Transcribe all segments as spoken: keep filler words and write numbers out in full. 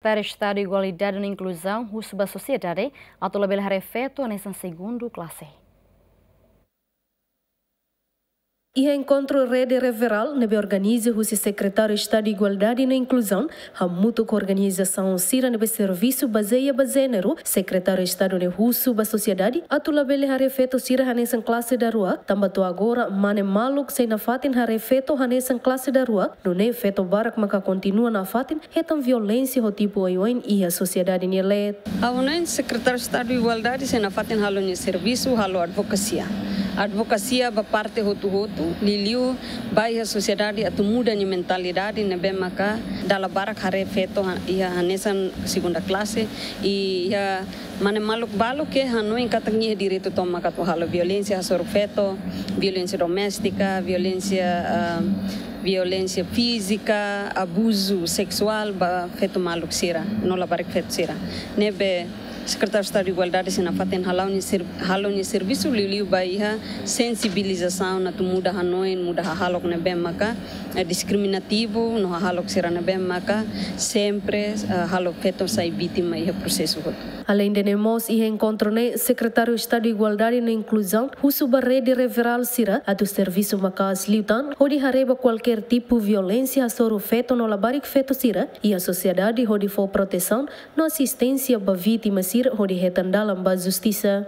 Sekretáriu Estadu Igualdade no Inkluzaun husu ba sosiedade atu labele haree feto hanesan segundu klase. Iha enkontru rede referál ne'ebé organiza husi Sekretáriu Estadu Igualdade no Inkluzaun hamutuk ho organizasaun sira ne'ebé servisu bazeia ba jéneru, Sekretáriu Estadu ne'e husu ba sosiedade atu labele haree feto sira hanesan klase daruak, tanba to'o agora mane maluk sei nafatin haree feto hanesan klase daruak, nune'e feto barak maka kontinua nafatin hetan violénsia ho tipu oioin iha sosiedade nia leet. Ha'u hanoin Sekretáriu Estadu Igualdade sei nafatin halo nia servisu, halo advokasia. Advokasia ba parte hotu-hotu, liuliu ba iha sosiedade atu muda nia mentalidade ne'ebé maka dala barak haree feto ha-, iha hanesan segunda klase, i iha mane maluk balu ke hanoin katak nia iha direitu tomak atu halo violénsia hasoru feto, violénsia doméstika, violénsia, ah, violénsia fízika, abuzu seksuál ba feto maluk sira, no labarik feto sira. Ne'ebé Sekretáriu Estadu Igualdade sei nafatin halo nia ser-, halo nia servisu liuliu ba iha sensibilizasaun atu muda hanoin, muda hahalok ne'ebé maka, eh, diskriminativu, no hahalok sira ne'ebé maka sempre, eh, halo feto sai vítima iha prosesu hotu. Aleinde ne'e mós iha enkontru ne'e, Sekretáriu Estadu Igualdade no Inkluzaun husu ba rede referál sira atu servisu maka'as liután hodi haree ba kualkér tipu violénsia hasoru feto no labarik feto sira iha sosiedade hodi fó protesaun no asisténsia ba vítima sira hodi hetan dalan ba justisa.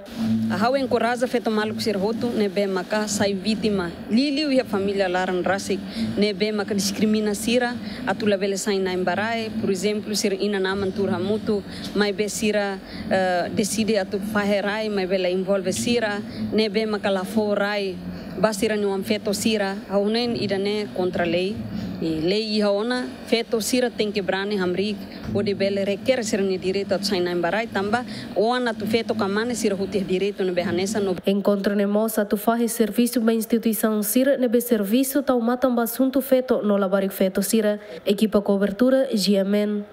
Ha'u enkoraja feto maluk sira hotu ne'ebé maka sai vítima, liuliu iha família laran rasik, ne'ebé maka diskrimina sira atu labele sai na'in ba rai, por ezemplu, sira inan-aman tuur hamutuk, maibé sira, eh, deside atu fahe rai, maibé la envolve sira, ne'ebé maka la fó rai ba sira-nia oan feto sira, ha'u hanoin ida-ne'e kontra lei. I lei iha ona, feto sira tenke brani hamriik hodi bele reker sira-nia direitu atu sai na'in ba rai, tanba oan atu feto ka mane sira hotu iha direitu ne'ebé hanesan no. Enkontru ne'e mós atu fahe servisu ba instituisaun sira ne'ebé servisu tau matan ba asuntu feto no labarik feto sira. Ekipa kobertura, G M N.